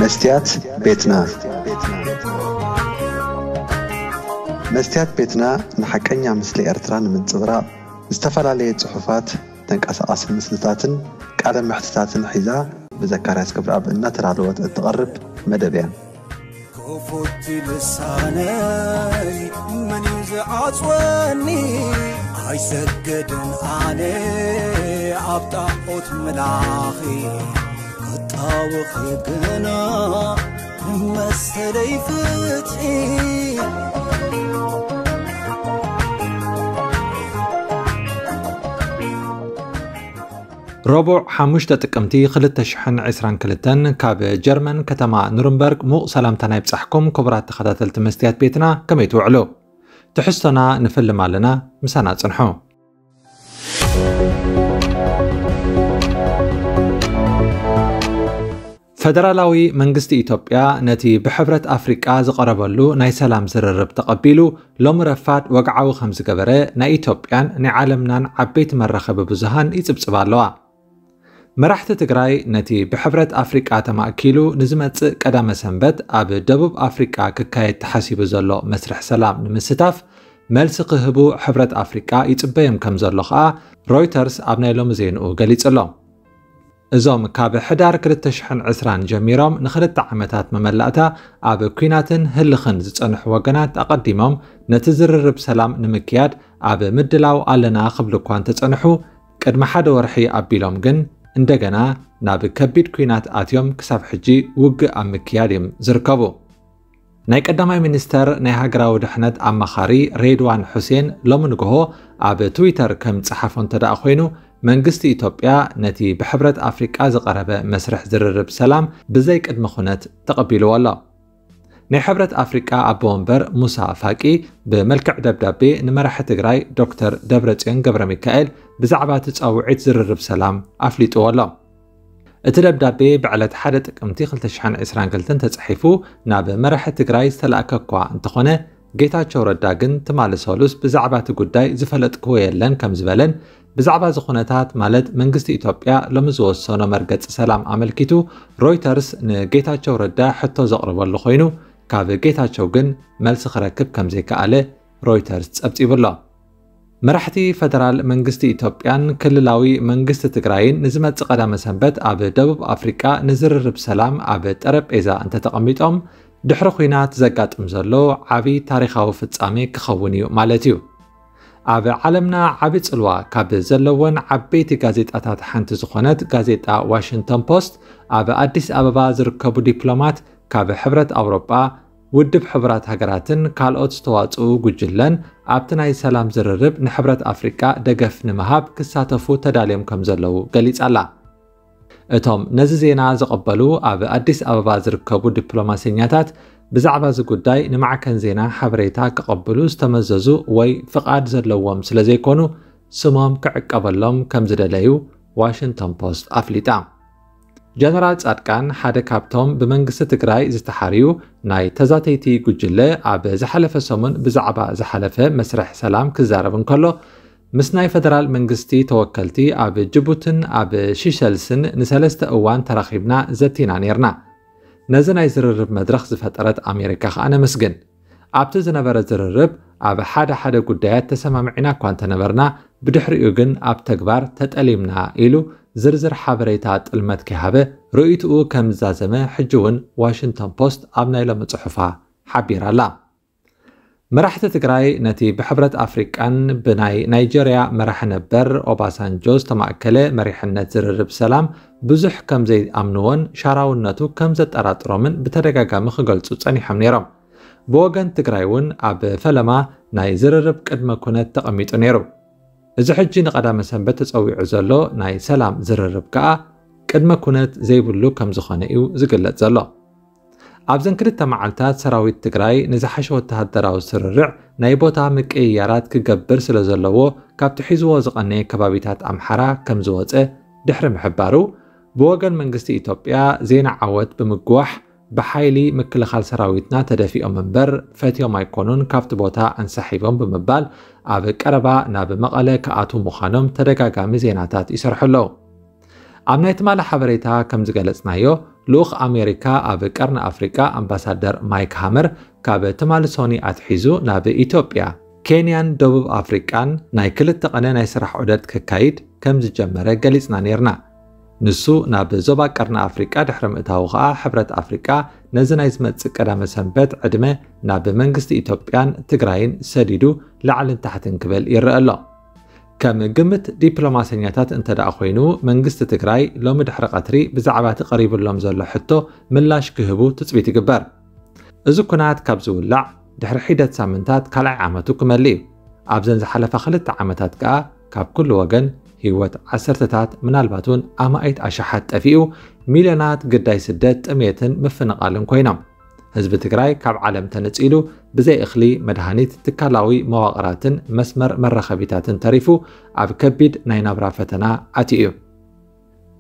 መስትያት ቤትና። መስትያት ቤትና ንሓቀኛ ምስሊ ኤርትራ ንምንጽብራቕ ዝተፈላለየ ጽሑፋት፣ ተንቀሳቓሲ ምስልታትን ቃለ መሕትታትን ሒዛ ብዘካርያስ ገብረኣብ እናተዳለወት እትቐርብ መደብ እያ። ክፉት ልሳነይ መን እዩ ዝዓጽወኒ? ኣይሰግድን ኣነ ኣብ ጣዖት ምላኺ፣ ክጣወኺ ግና መሰለይ ፍትሒ። ረቡዕ ሓሙሽተ ጥቅምቲ ክልተ ሽሕን ዕስራን ክልተን ካብ ጀርመን ከተማ ኑርንበርግ ሙቕ ሰላምታና ይብጻሕኩም ክቡራት ተኸታተልቲ መስትያት ቤትና፣ ከመይ ትውዕሉ? ትሕዝቶና ንፍልም ኣለና፣ ምሳና ጽንሑ። ፈደራላዊ መንግስቲ ኢትዮጵያ ነቲ ብሕብረት ኣፍሪቃ ዝቐረበሉ ናይ ሰላም ዝርርብ ተቐቢሉ ሎሚ ረፋድ ወግዓዊ ከም ዝገበረ ናይ ኢትዮጵያን ናይ ዓለምናን ዓበይቲ መራኸቢ ብዙሃን ይጽብጽባ ኣለዋ። መራሕቲ ትግራይ ነቲ ብሕብረት ኣፍሪቃ ተማእኪሉ ንዝመጽእ ቀዳመ ሰንበት ኣብ ደቡብ ኣፍሪቃ ክካየድ ተሓሲቡ ዘሎ መስርሕ ሰላም ንምስታፍ መልሲ ክህቡ ሕብረት ኣፍሪቃ ይጽበዮም ከም ዘሎ ከኣ ሮይተርስ ኣብ ናይ ሎሚ ዜንኡ ገሊጹ ኣሎ። እዞም ካብ ሕዳር ክልተ ሽሕን ዕስራን ጀሚሮም ንኽልተ ዓመታት መመላእታ ኣብ ኲናትን ህልኽን ዝጸንሑ ወገናት ኣቐዲሞም ነቲ ዝርርብ ሰላም ንምክያድ ኣብ ምድላው ኣለና ክብሉ እኳ እንተጸንሑ፣ ቅድሚ ሓደ ወርሒ ኣቢሎም ግን እንደገና ናብ ከቢድ ኲናት ኣትዮም ክሳብ ሕጂ ውግእ ኣብ ምክያድ እዮም ዝርከቡ። ናይ ቀዳማይ ሚኒስተር ናይ ሃገራዊ ድሕነት ኣማኻሪ ሬድዋን ሑሴን ሎሚ ንግሆ ኣብ ትዊተር ከም ጸሓፎ እንተ ደኣ ኮይኑ፣ መንግስቲ ኢትዮጵያ ነቲ ብሕብረት ኣፍሪቃ ዝቐረበ መስርሕ ዝርርብ ሰላም ብዘይ ቅድመ ኩነት ተቐቢልዎ ኣሎ። ናይ ሕብረት ኣፍሪቃ ኣቦ ወንበር ሙሳ ፋቂ ብመልክዕ ደብዳቤ ንመራሒ ትግራይ ዶክተር ደብረጽዮን ገብረ ሚካኤል ብዛዕባ እቲ ጻውዒት ዝርርብ ሰላም ኣፍሊጥዎ ኣሎ። እቲ ደብዳቤ ብዕለት ሓደ ጥቅምቲ ክልተ ሽሕን ዕስራን ክልተን ተጻሒፉ ናብ መራሒ ትግራይ ዝተላእከ እኳ እንተኾነ፣ ጌታቸው ረዳ ግን ትማሊ ሰሉስ ብዛዕባ እቲ ጉዳይ ዝፈለጥክዎ የለን ከም ዝበለን፣ ብዛዕባ እዚ ኩነታት ማለት መንግስቲ ኢትዮጵያ ሎሚ ዝወሰኖ መርገጺ ሰላም ኣመልኪቱ ሮይተርስ ንጌታቸው ረዳ ሕቶ ዘቕረበሉ ኮይኑ፣ ካብ ጌታቸው ግን መልሲ ክረክብ ከም ዘይከኣለ ሮይተርስ ጸብጺቡ ኣሎ። መራሕቲ ፈደራል መንግስቲ ኢትዮጵያን ክልላዊ መንግስቲ ትግራይን ንዝመጽእ ቀዳመ ሰንበት ኣብ ደቡብ ኣፍሪቃ ንዝርርብ ሰላም ኣብ ጠረጴዛ እንተተቐሚጦም፣ ድሕሪ ኲናት ዘጋጥም ዘሎ ዓቢ ታሪኻዊ ፍጻሜ ክኸውን እዩ ማለት እዩ። ኣብ ዓለምና ዓቢ ጽልዋ ካብ ዘለወን ዓበይቲ ጋዜጣታት ሓንቲ ዝኾነት ጋዜጣ ዋሽንግተን ፖስት፣ ኣብ ኣዲስ ኣበባ ዝርከቡ ዲፕሎማት ካብ ሕብረት ኣውሮጳ፣ ውድብ ሕቡራት ሃገራትን ካልኦት ዝተዋጽኡ ጉጅለን ኣብቲ ናይ ሰላም ዝርርብ ንሕብረት ኣፍሪቃ ደገፍ ንምሃብ ክሳተፉ ተዳልዮም ከም ዘለዉ ገሊጻ ኣላ። እቶም ነዚ ዜና ዝቐበሉ ኣብ ኣዲስ ኣበባ ዝርከቡ ዲፕሎማሰኛታት፣ ብዛዕባ እዚ ጉዳይ ንማዕከን ዜና ሓበሬታ ክቐብሉ ዝተመዘዙ ወይ ፍቓድ ዘለዎም ስለ ዘይኮኑ፣ ስሞም ክዕቀበሎም ከም ዝደለዩ ዋሽንግተን ፖስት ኣፍሊጣ። ጀነራል ጻድቃን ሓደ ካብቶም ብመንግስቲ ትግራይ ዝተሓርዩ ናይ ተዛተይቲ ጉጅለ፣ ኣብ ዝሓለፈ ሰሙን ብዛዕባ ዝሓለፈ መስርሕ ሰላም ክዛረብ እንከሎ፣ ምስ ናይ ፈደራል መንግስቲ ተወከልቲ ኣብ ጅቡትን ኣብ ሺሸልስን ንሰለስተ እዋን ተራኺብና ዘቲና ኔርና። ነዚ ናይ ዝርርብ መድረኽ ዝፈጠረት ኣሜሪካ ከኣ ነመስግን። ኣብቲ ዝነበረ ዝርርብ ኣብ ሓደ ሓደ ጉዳያት ተሰማሚዕና እኳ እንተነበርና፣ ብድሕሪኡ ግን ኣብ ተግባር ተጠሊምና ኢሉ ዝርዝር ሓበሬታ ጥልመት ከይሃበ ርእይትኡ ከም ዝዛዘመ ሕጂ እውን ዋሽንግተን ፖስት ኣብ ናይ ሎሚ ጽሑፋ ሓቢራ ኣላ። መራሕቲ ትግራይ ነቲ ብሕብረት ኣፍሪቃን ብናይ ናይጀርያ መራሒ ነበር ኦባሳንጆ ዝተማእከለ መሪሕነት ዝርርብ ሰላም ብዙሕ ከም ዘይኣምንዎን ሻራውነቱ ከም ዘጠራጥሮምን ብተደጋጋሚ ክገልጹ ጸኒሖም ነይሮም። ብወገን ትግራይ እውን ኣብ ፈለማ ናይ ዝርርብ ቅድመ ኩነት ተቐሚጡ ነይሩ። እዚ ሕጂ ንቐዳመ ሰንበት ተጸዊዑ ዘሎ ናይ ሰላም ዝርርብ ከኣ ቅድመ ኩነት ዘይብሉ ከም ዝኾነ እዩ ዝግለጽ ዘሎ። ኣብዘን ክልተ መዓልታት ሰራዊት ትግራይ ንዝሓሸ ወተሃደራዊ ስርርዕ ናይ ቦታ ምቅይያራት ክገብር ስለ ዘለዎ፣ ካብቲ ሒዝዎ ዝቐነየ ከባቢታት ኣምሓራ ከም ዝወጸ ድሕሪ ምሕባሩ፣ ብወገን መንግስቲ ኢትዮጵያ ዜና ዓወት ብምግዋሕ፣ ብሓይሊ ምክልኻል ሰራዊትና ተደፊኦም እምበር ፈትዮም ኣይኮኑን ካብቲ ቦታ ኣንሳሒቦም ብምባል፣ ኣብ ቀረባ ናብ መቐለ ክኣትዉ ምዃኖም ተደጋጋሚ ዜናታት ይሰርሑ ኣለዉ። ኣብ ናይ ትማሊ ሓበሬታ ከም ዝገለጽናዮ፣ ልኡኽ ኣሜሪካ ኣብ ቀርኒ ኣፍሪቃ ኣምባሳደር ማይክ ሃመር ካብ ትማሊ ሶኒ ኣትሒዙ ናብ ኢትዮጵያ፣ ኬንያን ደቡብ ኣፍሪቃን ናይ ክልተ ቀነ ናይ ስራሕ ዑደት ከካይድ ከም ዝጀመረ ገሊጽና ነይርና። ንሱ ናብ ዞባ ቀርኒ ኣፍሪቃ ድሕሪ ምእታዉ ከኣ፣ ሕብረት ኣፍሪቃ ነዚ ናይ ዝመጽእ ቀዳመ ሰንበት ዕድመ ናብ መንግስቲ ኢትዮጵያን ትግራይን ሰዲዱ ላዕልን ታሕትን ክብል ይረአ ኣሎ። ከም ግምት ዲፕሎማሰኛታት እንተ ደኣ ኮይኑ፣ መንግስቲ ትግራይ ሎሚ ድሕሪ ቀትሪ ብዛዕባ እቲ ቀሪቡሎም ዘሎ ሕቶ ምላሽ ክህቡ ትጽቢት ይግበር። እዚ ኩናት ካብ ዝውላዕ ድሕሪ ሒደት ሳምንታት ካልኣይ ዓመቱ ክመልእ እዩ። ኣብዘን ዝሓለፋ ክልተ ዓመታት ከኣ ካብ ኩሉ ወገን ህይወት ዓሰርተታት ምናልባት እውን ኣማኢት ኣሽሓት ጠፊኡ፣ ሚልዮናት ግዳይ ስደት፣ ጥሜትን ምፍንቓልን ኮይኖም። ህዝቢ ትግራይ ካብ ዓለም ተነጺሉ ብዘይ እኽሊ፣ መድሃኒት፣ ትካላዊ መዋቕራትን መስመር መራኸቢታትን ተሪፉ ኣብ ከቢድ ናይ ናብራ ፈተና ኣትዩ እዩ።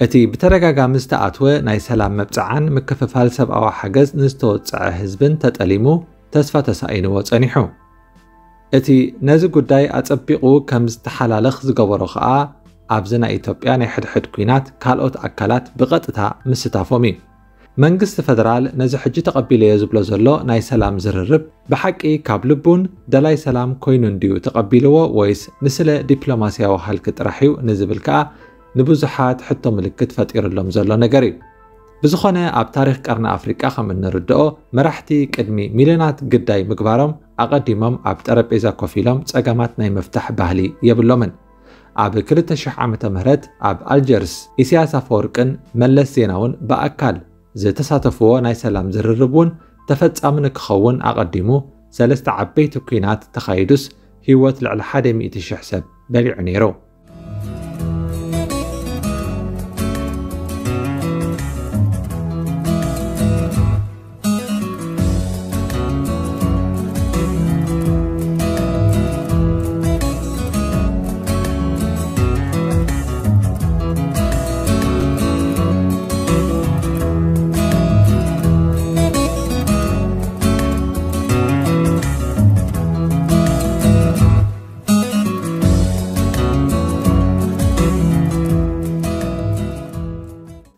እቲ ብተደጋጋሚ ዝተኣትወ ናይ ሰላም መብጽዓን ምክፍፋል ሰብኣዊ ሓገዝ ንዝተወጽዐ ህዝብን ተጠሊሙ ተስፋ ተሳኢንዎ ጸኒሑ። እቲ ነዚ ጉዳይ ኣጸቢቑ ከም ዝተሓላለኽ ዝገበሮ ከኣ ኣብዚ ናይ ኢትዮጵያ ናይ ሕድሕድ ኲናት ካልኦት ኣካላት ብቐጥታ ምስታፎም እዩ። መንግስቲ ፈደራል ነዚ ሕጂ ተቐቢለዮ ዝብሎ ዘሎ ናይ ሰላም ዝርርብ ብሓቂ ካብ ልቡን ደላይ ሰላም ኮይኑ እንድዩ ተቐቢልዎ ወይስ ንስለ ዲፕሎማስያዊ ሃልኪ ጥራሕ እዩ ንዝብል ከኣ ንብዙሓት ሕቶ ምልክት ፈጢርሎም ዘሎ ነገር እዩ። ብዝኾነ ኣብ ታሪኽ ቀርኒ ኣፍሪቃ ከም እንርድኦ መራሕቲ ቅድሚ ሚልዮናት ግዳይ ምግባሮም ኣቐዲሞም ኣብ ጠረጴዛ ኮፍ ኢሎም ጸገማት ናይ ምፍታሕ ባህሊ የብሎምን። ኣብ ክልተ ሽሕ ዓመተ ምህረት ኣብ ኣልጀርስ ኢሳያስ ኣፈወርቅን መለስ ዜናውን ብኣካል ዝተሳተፍዎ ናይ ሰላም ዝርርብ እውን ተፈጻሚ ንክኸውን ኣቐዲሙ ሰለስተ ዓበይቲ ኲናት ተኻይዱስ ህይወት ልዕሊ ሓደ ሚእቲ ሽሕ ሰብ በሊዑ ነይሩ።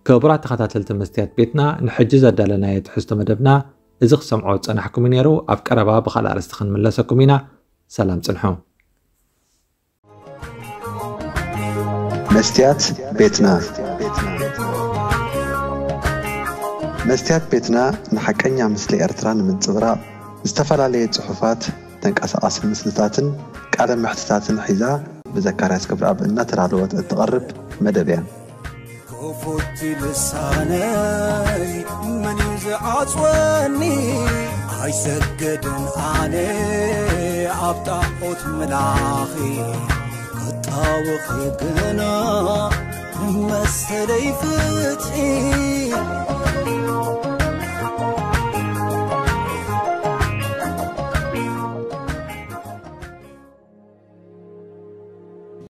ክቡራት ተኸታተልቲ መስትያት ቤትና፣ ንሕጂ ዘዳለናዮ ትሕዝቶ መደብና እዚ ክሰምዖ ዝጸናሕኩም እዩ ነይሩ። ኣብ ቀረባ ብኻልእ ኣርእስቲ ክንምለሰኩም ኢና። ሰላም ጽንሑ። መስትያት ቤትና። መስትያት ቤትና ንሓቀኛ ምስሊ ኤርትራ ንምንጽብራቕ ዝተፈላለየ ጽሑፋት፣ ተንቀሳቓሲ ምስልታትን ቃለ መሕትታትን ሒዛ ብዘካርያስ ገብረኣብ እናተዳለወት እትቐርብ መደብ እያ። ክፉት ልሳነይ መን እዩ ዝዓጽወኒ? ኣይሰግድን ኣነ ኣብ ጣዖት ምላኺ፣ ክጣወኺ ግና መሰለይ ፍትሒ።